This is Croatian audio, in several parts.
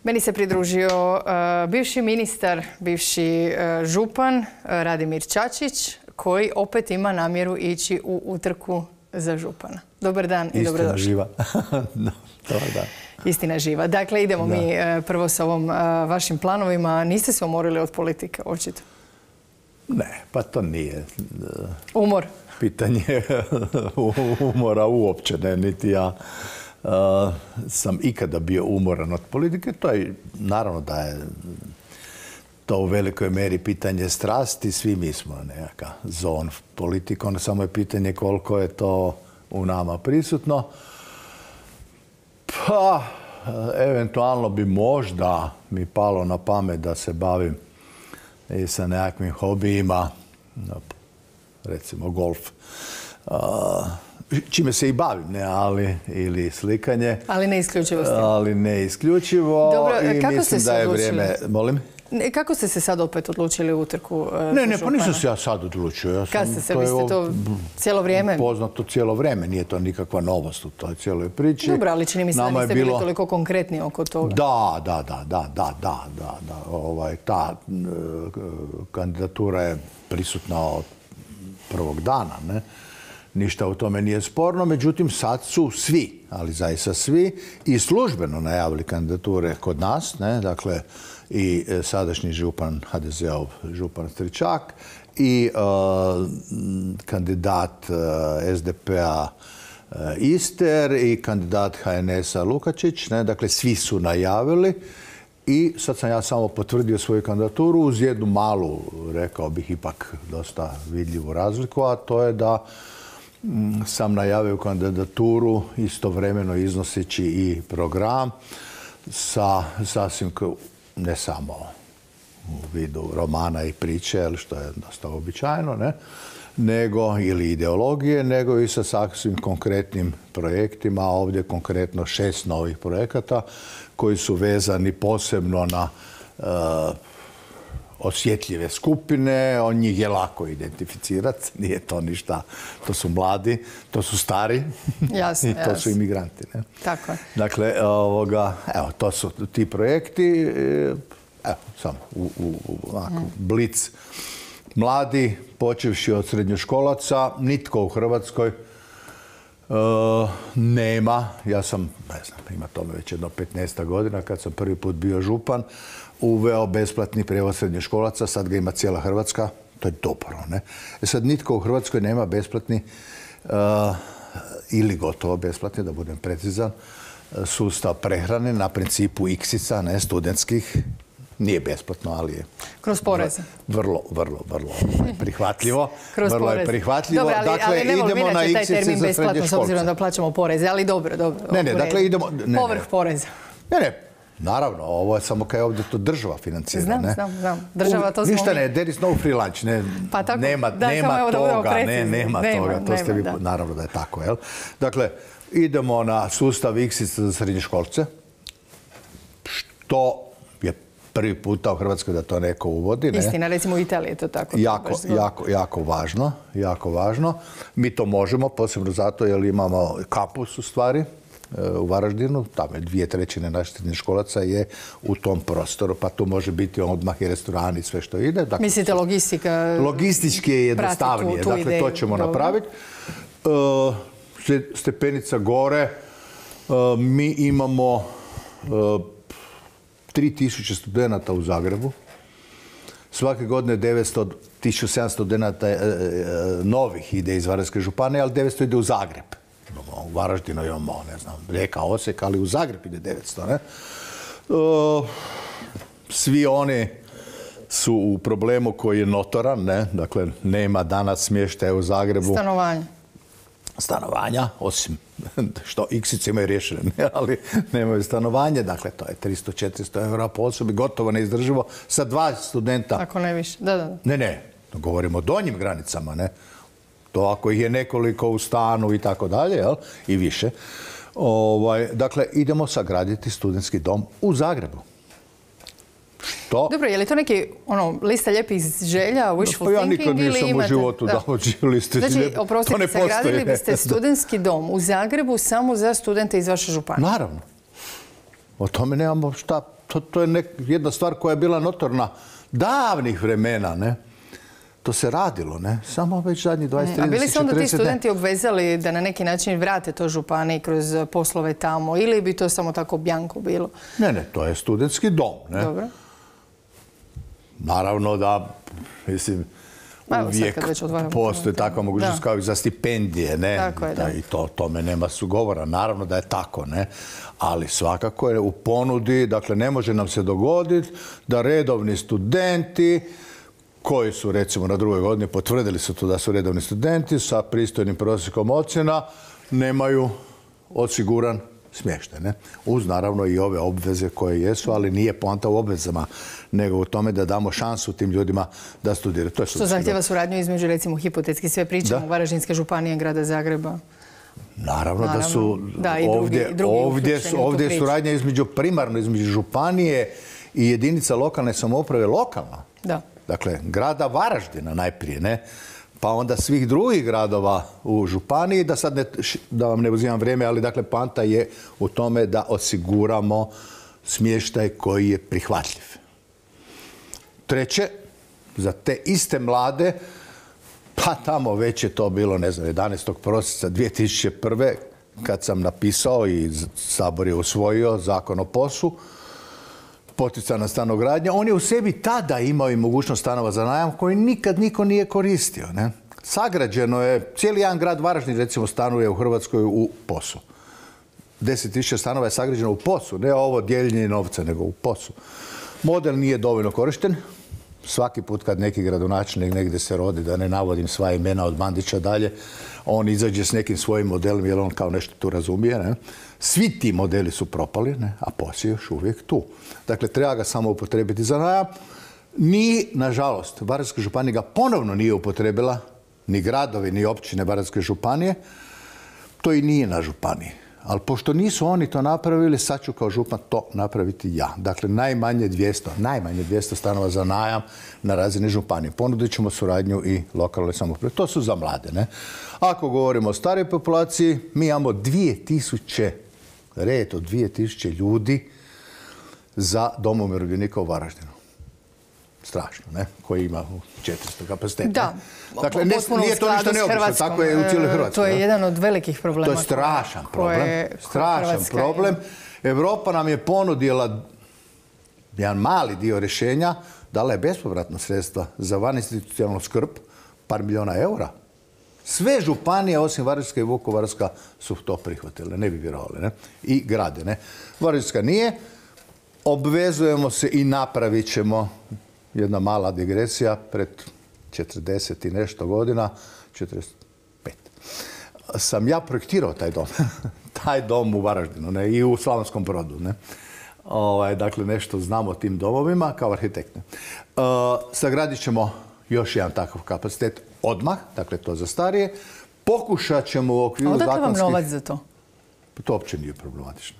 Meni se pridružio bivši ministar, bivši župan Radimir Čačić, koji opet ima namjeru ići u utrku za župana. Dobar dan i dobrodošli. Istina živa. Dobar dan. Istina živa. Dakle, idemo mi prvo sa ovom vašim planovima. Niste se umorili od politike, očito? Ne, pa to nije. Umor? Pitanje umora uopće ne, niti ja sam ikada bio umoran od politike. To je, naravno da je to u velikoj meri pitanje strasti. Svi mi smo nekakav zon politikom, samo je pitanje koliko je to u nama prisutno. Pa, eventualno bi možda mi palo na pamet da se bavim i sa nekakvim hobijima, recimo golf, čime se i bavim, ne, ali ili slikanje. Ali ne isključivo. Ali ne isključivo. Dobro, i kako mislim ste se da je odlučili? vrijeme. Molim? Kako ste se sad opet odlučili u utrku Ne, pa nisam se ja sad odlučio. Kad ste se, vi ste to cijelo vrijeme? Poznato cijelo vrijeme, nije to nikakva novost u toj cijeloj priči. Dobro, ali čini mi se da niste bili toliko konkretni oko toga. Da. Ta kandidatura je prisutna od prvog dana, ne? Ništa u tome nije sporno, međutim sad su svi, ali zaista svi, i službeno najavili kandidature kod nas, ne? Dakle, i sadašnji župan, HDZ-ov župan Stričak, i kandidat SDP-a Ister i kandidat HNS-a Lukačić. Ne? Dakle, svi su najavili i sad sam ja samo potvrdio svoju kandidaturu uz jednu malu, rekao bih, ipak dosta vidljivu razliku, a to je da sam najavio kandidaturu istovremeno iznoseći i program sa sasvim, ne samo u vidu romana i priče, što je dosta običajno, ne? Nego, ili ideologije, nego i sa sasvim konkretnim projektima. Ovdje konkretno 6 novih projekata koji su vezani posebno na osjetljive skupine. On njih je lako identificirati, nije to ništa. To su mladi, to su stari i to su imigranti. Ne? Tako je. Dakle, evo, to su ti projekti. Evo, samo blic. Mladi, počevši od srednjoškolaca, nitko u Hrvatskoj nema. Ja sam, ne znam, ima tome već jedno 15 godina, kad sam prvi put bio župan, uveo besplatni prijevoz srednjoškolaca, sad ga ima cijela Hrvatska. To je dobro, ne? Sad nitko u Hrvatskoj nema besplatni ili gotovo besplatni, da budem precizan, sustav prehrane na principu iksica, ne, studentskih. Nije besplatno, ali je kroz poreze. Vrlo prihvatljivo. Vrlo je prihvatljivo. Dobro, dakle, idemo na iksice za srednje školce. S obzirom da plaćamo poreze, ali dobro. Ne, dakle, idemo... Povrh poreza. Ne, naravno, ovo je samo kaj ovdje to država financira. Znam. Država to smo... Ništa ne, there is no free lunch. Nema toga. To ste vi, naravno da je tako, jel? Dakle, idemo na sustav iksica za srednje školce, što je prvi puta u Hrvatskoj da to neko uvodi. Istina, recimo u Italiji je to tako. Jako važno. Mi to možemo, posebno zato jer imamo kampus u stvari u Varaždinu. Tamo je 2/3 naših srednjoškolaca je u tom prostoru, pa tu može biti odmah i restoran i sve što ide. Dakle, mislite logistika? Logistički je jednostavnije. Dakle, to ćemo napraviti. Stepenica gore. Mi imamo 3000 studenata u Zagrebu. Svake godine 1700 studenata novih ide iz Varaždinske županije, ali 900 ide u Zagreb. U Varaždinu imamo, ne znam, Rijeka, Osijek, ali u Zagreb ide 900, ne? Svi oni su u problemu koji je notoran, ne? Dakle, nema danas smještaja u Zagrebu. Stanovanja, osim što iksice imaju riješene, ali nemaju stanovanje. Dakle, to je 300-400 eura po osobi, gotovo neizdrživo. Sa 2 studenta... Ako ne više, da. Ne, govorimo o donjim granicama, ne? To ako ih je nekoliko u stanu i tako dalje, jel? I više. Dakle, idemo sagraditi studentski dom u Zagrebu. Što? Dobro, je li to neki lista lijepih želja, wishful thinking ili imate? Ja nikad nisam u životu dao liste želja. Znači, oprostite, sagradili biste studentski dom u Zagrebu samo za studente iz vaše županije? Naravno. O tome nemamo šta To je jedna stvar koja je bila notorna davnih vremena, ne? To se radilo, ne? Samo već zadnji 20, 30, 40... A bili se onda ti studenti obvezali da na neki način vrate to županiji kroz poslove tamo ili bi to samo tako bjanko bilo? Ne, to je studentski dom, ne? Dobro. Naravno da, mislim, uvijek postoji takva mogućnost kao i za stipendije, ne? Tako je, da. I tome nema sugovora. Naravno da je tako, ne? Ali svakako je u ponudi, dakle, ne može nam se dogoditi da redovni studenti koji su, recimo, na drugoj godini potvrdili su to da su redovni studenti sa pristojnim prosjekom ocjena, nemaju osiguran smještaj, ne? Uz, naravno, i ove obveze koje jesu, ali nije poanta u obvezama, nego u tome da damo šansu tim ljudima da studiraju. Što zahtjeva suradnju između, recimo, hipotetski sve pričamo, Varaždinske županije, grada Zagreba? Naravno da su ovdje suradnja primarno između županije i jedinica lokalne samouprave lokalna. Da. Dakle, grada Varaždina najprije, ne? Pa onda svih drugih gradova u županiji, da vam ne uzimam vrijeme, ali dakle poanta je u tome da osiguramo smještaj koji je prihvatljiv. Treće, za te iste mlade, pa tamo već je to bilo, ne znam, 11. prosinca 2001. kad sam napisao i Sabor je usvojio Zakon o POS-u, poticajna stanogradnja, on je u sebi tada imao i mogućnost stanova za najam koji nikad niko nije koristio, ne? Sagrađeno je, cijeli jedan grad Varaždin, recimo, stanuje u Hrvatskoj u POS-u. 10.000 stanova je sagrađeno u POS-u, ne ovo dijeljenje novca, nego u POS-u. Model nije dovoljno korišten. Svaki put kad neki gradonačelnik negdje se rodi, da ne navodim sva imena od Bandića dalje, on izađe s nekim svojim modelom jer on kao nešto tu razumije, ne? Svi ti modeli su propali, ne? A POS je još uvijek tu. Dakle, treba ga samo upotrebiti za najam. Ni, nažalost, Varaždinska županija ga ponovno nije upotrebila, ni gradovi, ni općine Varaždinske županije. To i nije na županiji. Ali pošto nisu oni to napravili, sad ću kao župan to napraviti ja. Dakle, najmanje 200 stanova za najam na razini županije. Ponudit ćemo suradnju i lokalne samouprave. To su za mlade, ne? Ako govorimo o starijoj populaciji, mi imamo 2000 ljudi za dom umirovljenika u Varaždinu. Strašno, ne? Koji ima 400 kapaciteta. Da, dakle, nije to ništa neobično, tako je u cijeloj Hrvatskoj. To je jedan od velikih problema. To je strašan problem. Strašan problem. Europa nam je ponudila jedan mali dio rješenja, dala je bespovratna sredstva za vaninstitucionalnu skrb, par milijuna eura. Sve županije, osim Varaždinska i Vukovarska, su to prihvatile, ne bi vjerovali, ne? I grade, ne? Varaždinska nije. Obvezujemo se i napravit ćemo, jedna mala digresija, pred 40 i nešto godina, 45, sam ja projektirao taj dom. Taj dom u Varaždinu, ne? I u Slavonskom Brodu, ne? Dakle, nešto znam o tim domovima kao arhitekt. Sagradit ćemo još jedan takav kapacitet odmah, dakle to za starije. Pokušat ćemo u okviru zakonskih... A odakle vam novac za to? Pa to uopće nije problematično.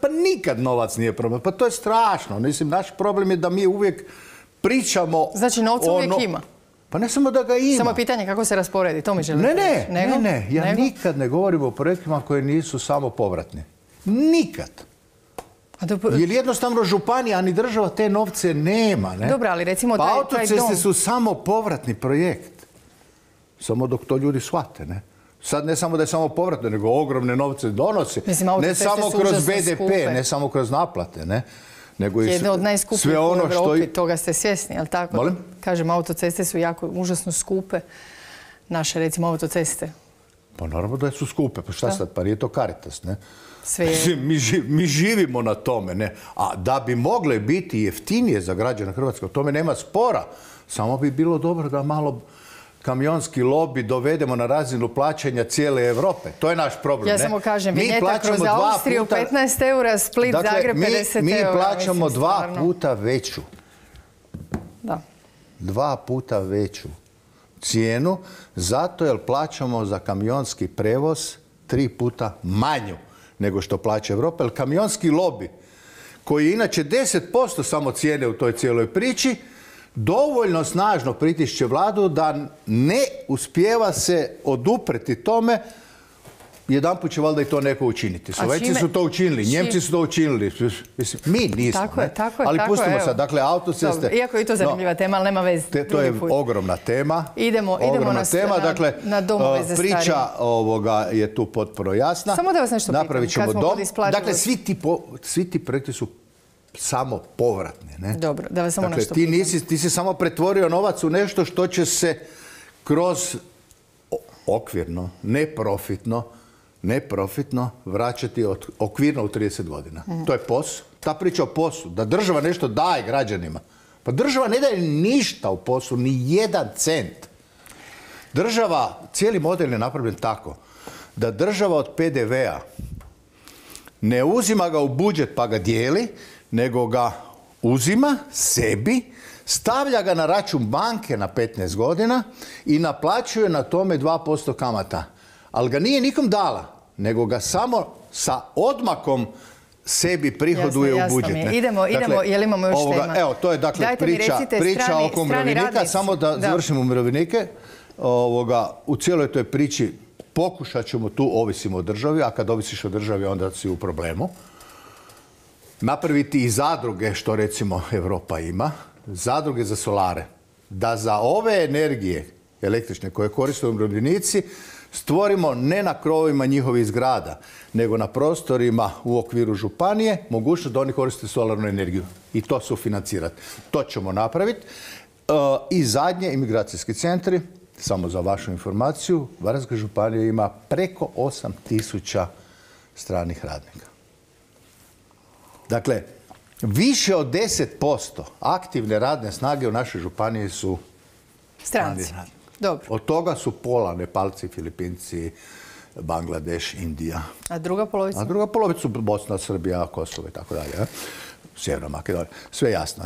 Pa nikad novac nije problem. Pa to je strašno. Mislim, naš problem je da mi uvijek pričamo... Znači, novca uvijek ima? Pa ne samo da ga ima. Samo pitanje kako se rasporedi, to mi želite reći. Ne. Ja nikad ne govorim o projektima koji nisu samo povratni. Nikad. Jer jednostavno županija, ni država te novce nema, ne? Dobro, ali recimo taj dom... Pa autoceste su samo povratni projekt. Samo dok to ljudi shvate, ne? Sad ne samo da je samo povratno, nego ogromne novce donosi. Ne samo kroz BDP, ne samo kroz naplate, ne? Jedne od najskupljih u Europi, toga ste svjesni, jel tako? Molim? Kažem, autoceste su jako, užasno skupe. Naše, recimo, autoceste. Pa naravno da su skupe, pa šta sad, pa nije to Caritas, ne? Sve je... Mi živimo na tome, ne? A da bi mogle biti jeftinije za građane Hrvatske, o tome nema spora. Samo bi bilo dobro da malo kamionski lobi dovedemo na razinu plaćanja cijele Europe. To je naš problem, ne? Ja samo kažem, vinjeta kroz Austriju 15 eura, Split, Zagreb 50 eura. Mi plaćamo 2 puta veću. Da. 2 puta veću cijenu, zato jer plaćamo za kamionski prevoz 3 puta manju nego što plaća Europa. Jer kamionski lobi, koji je inače 10% samo cijene u toj cijeloj priči, dovoljno snažno pritišće vladu da ne uspijeva se odupreti tome jedanput će valjda i to neko učiniti. Slovenci su to učinili, Njemci su to učinili. Mislim, mi nismo. Ali pustimo sad, dakle, autoceste... Iako je to zanimljiva tema, ali nema veze. To je ogromna tema. Idemo na domove za starije. Priča je tu potpuno jasna. Samo da vas nešto pitam, kad smo kod isplaćivosti. Dakle, svi ti projekti su samo povratni. Dobro, da vas samo nešto pitam. Ti si samo pretvorio novac u nešto što će se kroz okvirno, neprofitno vraćati okvirno u 30 godina. To je POS. Ta priča o POS-u, da država nešto daje građanima. Pa država ne daje ništa u POS-u, ni jedan cent. Država, cijeli model je napravljen tako da država od PDV-a ne uzima ga u budžet pa ga dijeli, nego ga uzima sebi, stavlja ga na račun banke na 15 godina i naplaćuje na tome 2% kamata. Ali ga nije nikom dala, nego ga samo sa odmakom sebi prihoduje u budžet. Idemo, jel imamo još tema? Evo, to je dakle priča oko umirovljenika. Samo da završimo umirovljenike. U cijeloj toj priči pokušat ćemo tu, ovisimo o državi, a kad ovisiš o državi onda si u problemu. Napraviti i zadruge, što recimo Europa ima, zadruge za solare. Da za ove energije električne koje koriste umirovljenici stvorimo ne na krovovima njihovih zgrada, nego na prostorima u okviru županije mogućnost da oni koriste solarnu energiju i to sufinancirati. To ćemo napraviti. I zadnje, imigracijski centri, samo za vašu informaciju, Varaždinska županija ima preko 8.000 stranih radnika. Dakle, više od 10% aktivne radne snage u našoj županiji su stranci. Dobro. Od toga su pola Nepalci, Filipinci, Bangladeš, Indija. A druga polovica? A druga polovica su Bosna, Srbija, Kosovo i tako dalje. Sjeverna Makedonija. Sve jasno.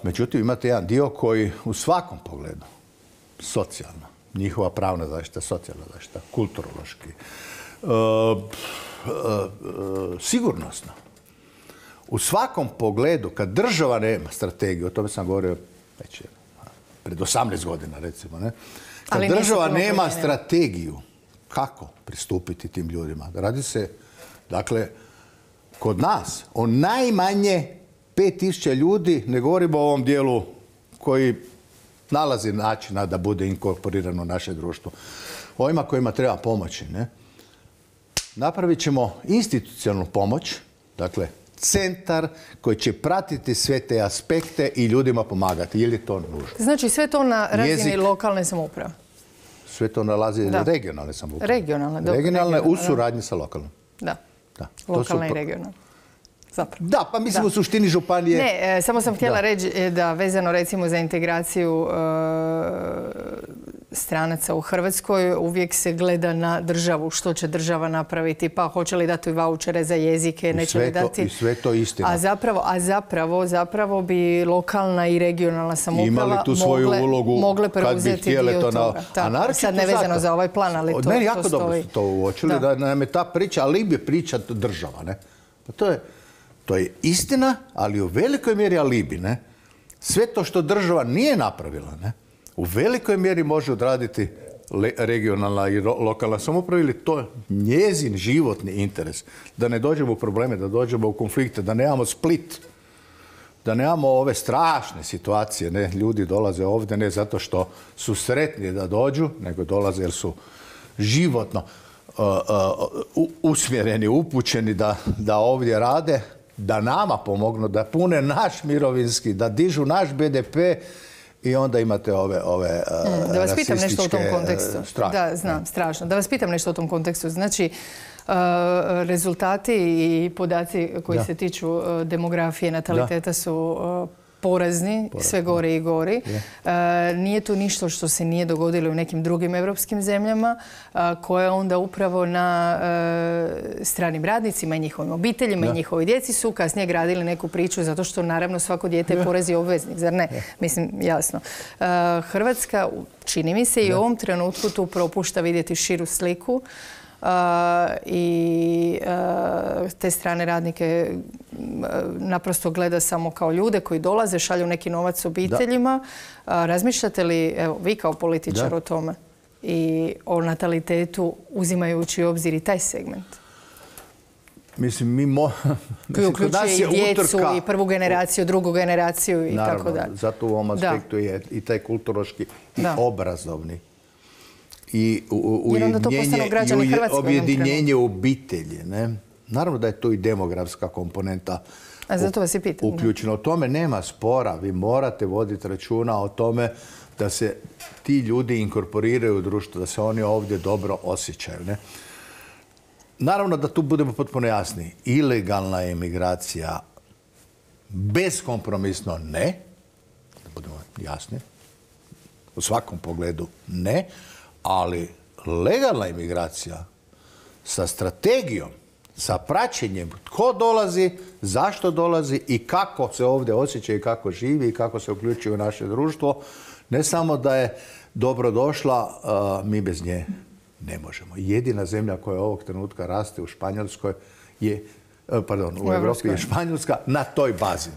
Međutim, imate jedan dio koji u svakom pogledu, socijalno, njihova pravna zaštita, socijalna zaštita, kulturološki, sigurnosno. U svakom pogledu, kad država nema strategiju, o tome sam govorio već pred 18 godina, recimo, ne? Kad država nema strategiju, kako pristupiti tim ljudima? Radi se, dakle, kod nas o najmanje 5.000 ljudi, ne govorimo o ovom dijelu koji nalazi načina da bude inkorporirano u naše društvo. Ovima kojima treba pomoći, ne? Napravit ćemo institucionalnu pomoć, dakle, centar koji će pratiti sve te aspekte i ljudima pomagati. Je li to nužno? Znači sve to na razini lokalne samouprave? Sve to na razini regionalne samouprave. Regionalne, u suradnji sa lokalnom. Da. Lokalne i regionalne. Zapravo. Da, pa mislim u suštini županije... Ne, samo sam htjela reći da vezano recimo za integraciju stranaca u Hrvatskoj uvijek se gleda na državu, što će država napraviti, pa hoće li dati vaučere za jezike, neće li dati... I sve to istina. Zapravo bi lokalna i regionalna samouprava mogle preuzeti dio toga. Sad ne vezano za ovaj plan, ali to stoji. Meni jako dobro su to uočili, da nam je ta priča, ali bi priča država, ne? To je istina, ali u velikoj mjeri alibi, ne? Sve to što država nije napravila, ne? U velikoj mjeri može odraditi regionalna i lokalna samouprava ili to je njezin životni interes. Da ne dođemo u probleme, da dođemo u konflikte, da nemamo Split, da nemamo ove strašne situacije, ne? Ljudi dolaze ovdje ne zato što su sretni da dođu, nego dolaze jer su životno usmjereni, upućeni da ovdje rade, da nama pomognu, da pune naš mirovinski, da dižu naš BDP i onda imate ove da vas pitam nešto u tom kontekstu. Da, znam, strašno. Da vas pitam nešto u tom kontekstu. Znači, rezultati i podaci koji se tiču demografije, nataliteta su porazni, sve gori i gori. Nije tu ništa što se nije dogodilo u nekim drugim evropskim zemljama, koje onda upravo na stranim radnicima i njihovim obiteljima i njihovoj djeci su kasnije gradili neku priču, zato što naravno svako dijete je porez i obveznik, zar ne? Mislim, jasno. Hrvatska, čini mi se, i u ovom trenutku tu propušta vidjeti širu sliku i te strane radnike naprosto gleda samo kao ljude koji dolaze, šalju neki novac obiteljima. Razmišljate li, evo, vi kao političar o tome? i o natalitetu uzimajući u obzir i taj segment? Mislim, koji uključuje i djecu, i prvu generaciju, drugu generaciju i tako dalje. Zato u ovom aspektu je i taj kulturološki i obrazovni. I objedinjenje obitelji. Naravno da je to i demografska komponenta uključena. O tome nema spora. Vi morate voditi računa o tome da se ti ljudi inkorporiraju u društvo, da se oni ovdje dobro osjećaju. Naravno da tu budemo potpuno jasni. Ilegalna emigracija beskompromisno ne. Da budemo jasni. U svakom pogledu ne. Ali legalna emigracija sa strategijom, sa praćenjem tko dolazi, zašto dolazi i kako se ovdje osjeća i kako živi i kako se uključuje u naše društvo, ne samo da je dobro došla, mi bez nje ne možemo. Jedina zemlja koja ovog trenutka raste u Španjolskoj je, u Europi je Španjolska na toj bazi.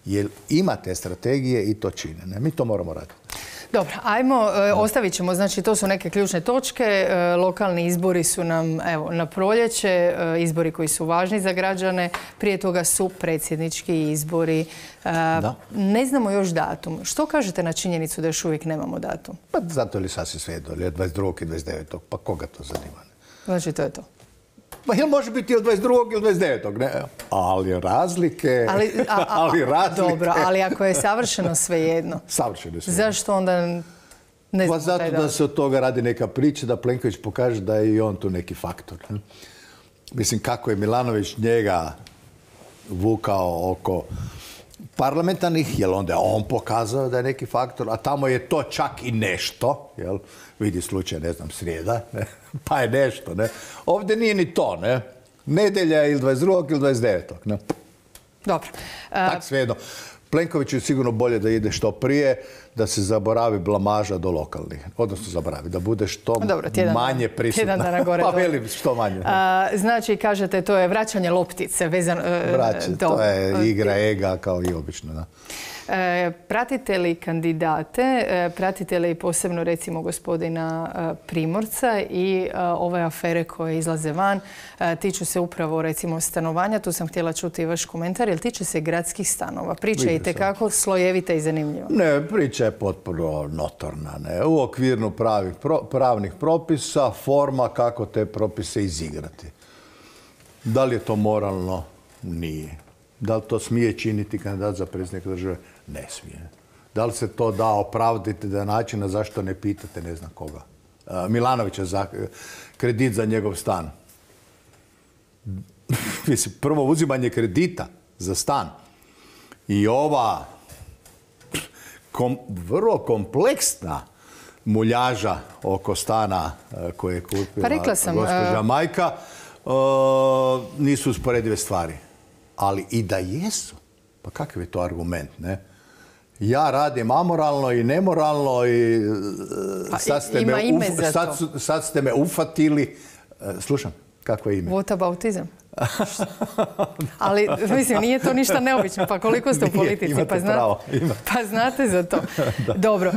Jer ima te strategije i to čine. Mi to moramo raditi. Dobro, ajmo, ostavit ćemo, znači to su neke ključne točke. Lokalni izbori su nam, evo, na proljeće, izbori koji su važni za građane. Prije toga su predsjednički izbori. Ne znamo još datum. Što kažete na činjenicu da još uvijek nemamo datum? Pa zato li sasvim svejedno, ili 22. i 29. Pa koga to zanima? Znači to je to. Pa jel može biti od 22. ili 29. Ne? Ali razlike... Dobro, ali ako je savršeno svejedno. Savršeno svejedno. Zašto onda ne znamo pa zato da se od toga radi neka priča, da Plenković pokaže da je i on tu neki faktor. Mislim, kako je Milanović njega vukao oko parlamentarnih, jel onda je on pokazao da je neki faktor, a tamo je to čak i nešto, jel? Vidi slučaj, ne znam, srijeda, ne? Pa je nešto, ne? Ovdje nije ni to, ne? Nedelja ili 22. ili 29. Ne? Dobro. Tak svejedno. Plenković je sigurno bolje da ide što prije, da se zaboravi blamaža do lokalnih. Odnosno zaboravi, da bude što manje prisutna. Tjedan dana gore. Pa velim, što manje. Znači, kažete, to je vraćanje loptice. To je igra ega kao i obično. Da. Pratite li kandidate, pratite li posebno recimo gospodina Primorca i ove afere koje izlaze van, tiču se upravo recimo stanovanja, tu sam htjela čuti vaš komentar, jer tiče se gradskih stanova. Priča je itekako slojevita i zanimljiva. Ne, priča je potpuno notorna. Ne? U okvirnu pravnih propisa, forma kako te propise izigrati. Da li je to moralno? Nije. Da li to smije činiti kandidat za predsjednika države? Ne smije. Da li se to da opravdati da načina zašto ne pitate ne znam koga? Milanovića za kredit za njegov stan. Mislim, prvo uzimanje kredita za stan i ova vrlo kompleksna muljaža oko stana koje je kupila gospođa majka nisu usporedive stvari. Ali i da jesu, pa kakav je to argument, ne? Ja radim amoralno i nemoralno i sad ste me ufatili. Slušam, kako je ime? Whataboutizam. Ali, mislim, nije to ništa neobično. Pa koliko ste u politici? Pa znate za to. Dobro.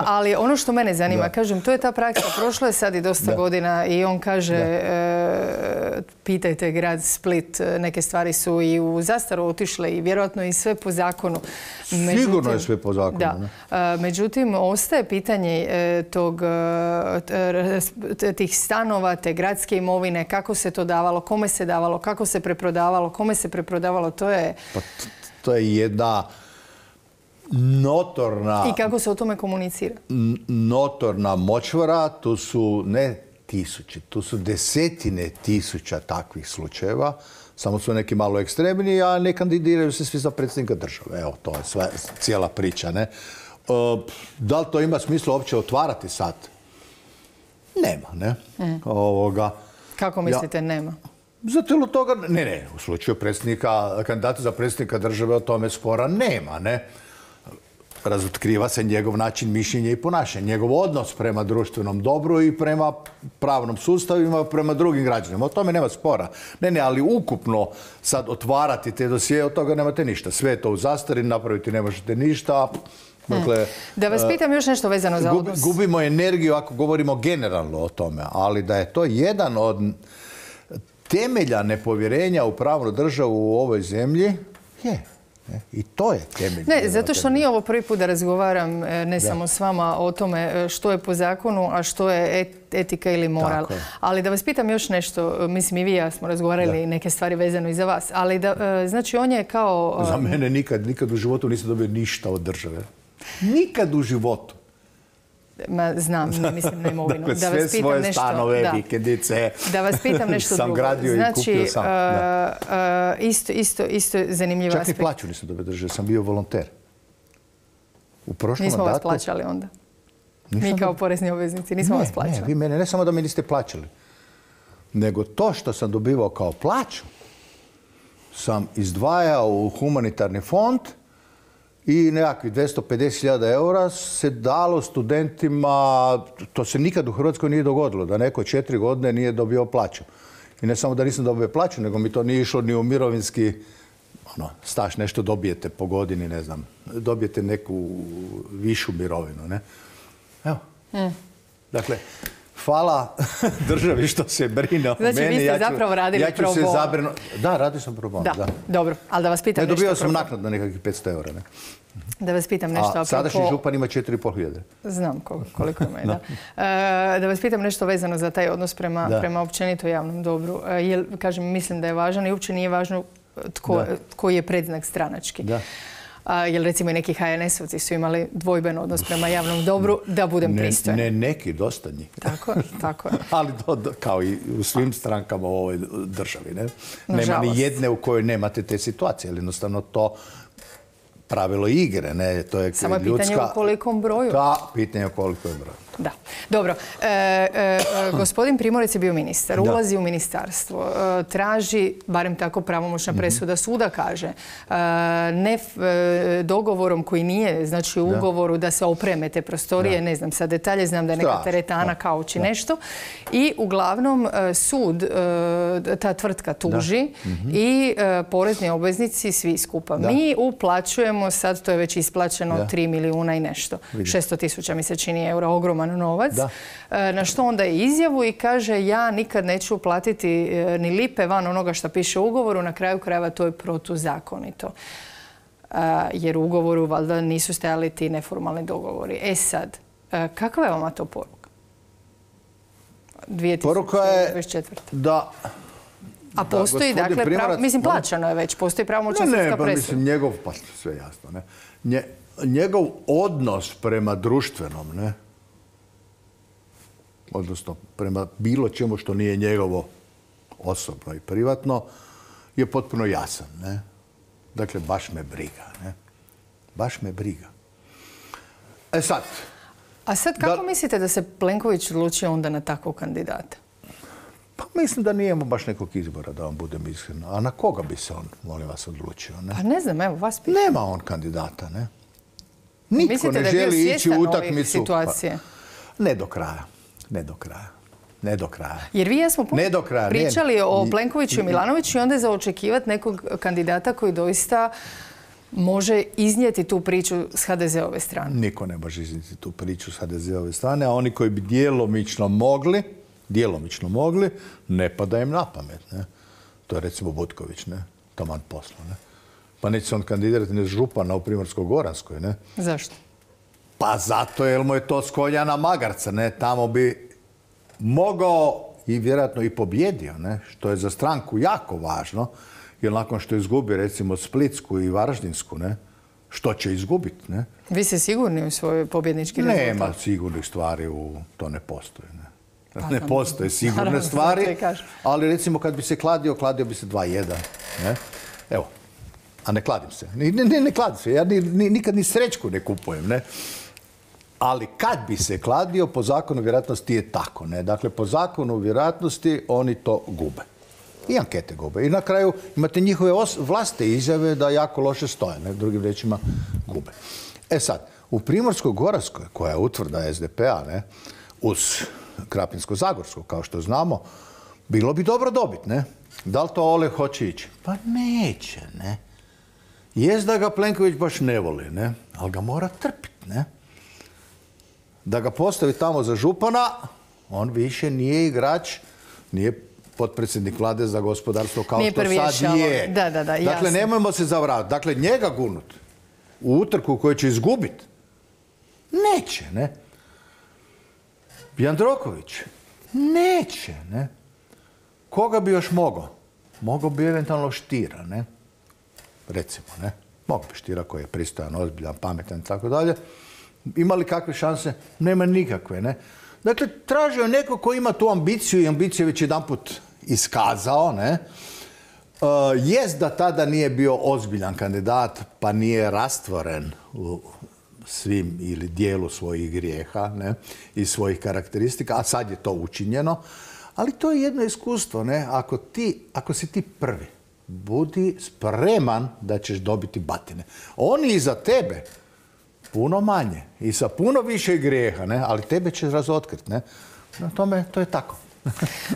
Ali ono što mene zanima, kažem, to je ta praksa. Prošlo je sad i dosta godina i on kaže, pitajte grad Split, neke stvari su i u zastaru otišle i vjerojatno i sve po zakonu. Sigurno je sve po zakonu. Da. Međutim, ostaje pitanje tih stanova, te gradske imovine, kako se to davalo, kome se davalo, kako se preprodavalo, kome se preprodavalo, to je... Pa to je jedna notorna... I kako se o tome komunicira? Notorna močvara, tu su ne tisuće, tu su desetine tisuća takvih slučajeva, samo su neki malo ekstremni, a ne kandidiraju se svi za predsjednika države. Evo, to je cijela priča, ne? Da li to ima smisla uopće otvarati sad? Nema, ne? Kako mislite nema? Zato ili toga, ne, u slučaju kandidata za predsjednika države o tome spora nema, ne. Razotkriva se njegov način mišljenja i ponašanja, njegov odnos prema društvenom dobru i prema pravnom sustavima, prema drugim građanima. O tome nema spora. Ne, ali ukupno sad otvarati te dosije, od toga nemate ništa. Sve je to u zastari, napraviti ne možete ništa, Dakle, da vas pitam još nešto vezano za odnos. Gubimo energiju ako govorimo generalno o tome, ali da je to jedan od temelja nepovjerenja u pravnu državu u ovoj zemlji, je. I to je temelj. Ne, zato što nije ovo prvi put da razgovaram ne samo s vama o tome što je po zakonu, a što je etika ili moral. Ali da vas pitam još nešto, mislim i vi i ja smo razgovarali neke stvari vezano i za vas, ali znači on je kao... Za mene nikad u životu nisam dobio ništa od države. Nikad u životu. Znam, ne mislim na imovinu. Dakle, sve svoje stanove, vikendice da vas pitam nešto drugo. Sam gradio i kupio sam. Isto zanimljiv aspekt. Čak ni plaću nisam dobio države, sam bio volonter. U prošlom nismo mandatu... vas plaćali onda? Mi kao porezni obveznici nismo vas plaćali. Ne, vi mene ne samo da mi niste plaćali, nego to što sam dobivao kao plaću sam izdvajao u humanitarni fond i nekakvih 250.000 eura se dalo studentima, to se nikad u Hrvatskoj nije dogodilo, da neko 4 godine nije dobio plaću. I ne samo da nisam dobio plaću, nego mi to nije išlo ni u mirovinski staž, nešto dobijete po godini, ne znam, dobijete neku višu mirovinu, ne? Evo. Dakle, hvala državi što se brine o meni. Znači, vi ste zapravo radili pro bono. Da, radio sam pro bono. Da, dobro. Ali da vas pitam nešto... Dobio sam naknadno nekakvih 500 eura. Ne? Da vas pitam nešto apropo... A sadašnji župan ima 4.500. Znam koliko ima, da. Da vas pitam nešto vezano za taj odnos prema općenito javnom dobru. Kažem, mislim da je važan i uopće nije važno koji je predznak stranački. Jer recimo i neki HNS-ovci su imali dvojben odnos prema javnom dobru, da budem pristojan. Ne neki, dosta njih. Tako je. Ali kao i u svim strankama u ovoj državi. Nema ni jedne u kojoj nemate te situacije. Ali jednostavno to pravilo igre. Samo je pitanje u kolikom broju. Da, pitanje u kolikom broju. Da. Dobro. Gospodin Primorac je bio ministar. Ulazi u ministarstvo. Traži, barem tako pravomoćna presuda suda kaže, ne dogovorom koji nije, znači u ugovoru da se opreme te prostorije, ne znam sad detalje, znam da je neka teretana kauči nešto. I uglavnom sud, ta tvrtka tuži i porezni obveznici svi skupa. Mi uplaćujemo, sad to je već isplaćeno 3 milijuna i nešto. 600.000 mi se čini eura, ogroman novac. Na što onda je izjavu i kaže ja nikad neću platiti ni lipe van onoga što piše u ugovoru, na kraju krajeva to je protuzakonito. Jer u ugovoru valjda nisu stajali ti neformalni dogovori. Sad, kakva je vama to poruka? 2024. Poruka je da... A postoji, dakle, mislim, plaćano je već, postoji pravomoćna sudska presuda. Ne, mislim, njegov, pa sve jasno, ne. Njegov odnos prema društvenom, ne, odnosno prema bilo čemu što nije njegovo osobno i privatno, je potpuno jasan, ne. Dakle, baš me briga, ne. Baš me briga. Sad... A sad kako mislite da se Plenković odlučio onda na takvog kandidata? Pa mislim da nije imao baš nekog izbora, da vam budem iskren. A na koga bi se on, molim vas, odlučio? Ne? Pa ne znam, evo, vas pitam. Nema on kandidata, ne? Nitko ne želi ići u utakmicu. Situacije? Ne do kraja. Ne do kraja. Ne do kraja. Jer vi smo pričali o Plenkoviću i Milanoviću i onda je za očekivati nekog kandidata koji doista može iznijeti tu priču s HDZ-ove strane. Niko ne može iznijeti tu priču s HDZ-ove strane, a oni koji bi djelomično mogli, ne pada im na pamet. Ne? To je recimo Butković, ne? Taman posla. Ne? Pa neće se on kandidirati ni župana u Primorsko-goranskoj. Ne? Zašto? Pa zato jer mu je to s konja na magarca. Ne? Tamo bi mogao i vjerojatno i pobjedio, ne? Što je za stranku jako važno, jer nakon što izgubi recimo Splitsku i Varaždinsku, ne? Što će izgubiti? Ne? Vi ste sigurni u svoj pobjednički rezultat? Nema sigurnih stvari, to ne postoji. Ne? Ne postoje sigurne stvari, ali recimo kad bi se kladio bi se 2:1. Ne? Evo, a ne kladim se. Ne kladim se, ja nikad ni srećku ne kupujem. Ne? Ali kad bi se kladio, po zakonu vjerojatnosti je tako. Ne? Dakle, po zakonu vjerojatnosti oni to gube. I ankete gube. I na kraju imate njihove vlastite izjave da jako loše stoje. Ne? Drugim rečima gube. Sad, u Primorsko-goranskoj, koja je utvrda SDP-a, ne? Uz Krapinsko-zagorsko, kao što znamo, bilo bi dobro dobiti, ne? Da li to Oleg hoće ići? Pa neće, ne? Jest da ga Plenković baš ne voli, ne? Ali ga mora trpiti, ne? Da ga postavi tamo za župana, on više nije igrač, nije potpredsjednik vlade za gospodarstvo kao što sad je. Dakle, nemojmo se zavravati. Dakle, njega gurnut u utrku koju će izgubiti, neće, ne? Jandroković, neće, ne? Koga bi još mogao? Mogao bi eventualno Štira, ne? Recimo, ne? Mogao bi Štira koji je pristojan, ozbiljan, pametan i tako dalje. Ima li kakve šanse? Nema nikakve, ne? Dakle, tražio neko ko ima tu ambiciju i ambiciju je već jedanput iskazao, ne? Jest da tada nije bio ozbiljan kandidat, pa nije rastvoren u svim ili dijelu svojih grijeha, ne? I svojih karakteristika, a sad je to učinjeno. Ali to je jedno iskustvo, ne? Ako si ti prvi, budi spreman da ćeš dobiti batine. Oni iza tebe puno manje i sa puno više grijeha, ne? Ali tebe će razotkriti, ne? Na tome, to je tako.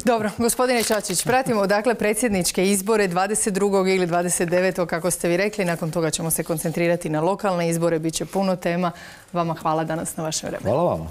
Dobro, gospodine Čačić, pratimo dakle predsjedničke izbore 22. ili 29. kako ste vi rekli. Nakon toga ćemo se koncentrirati na lokalne izbore. Biće puno tema. Vama hvala danas na vašem vremenu. Hvala vama.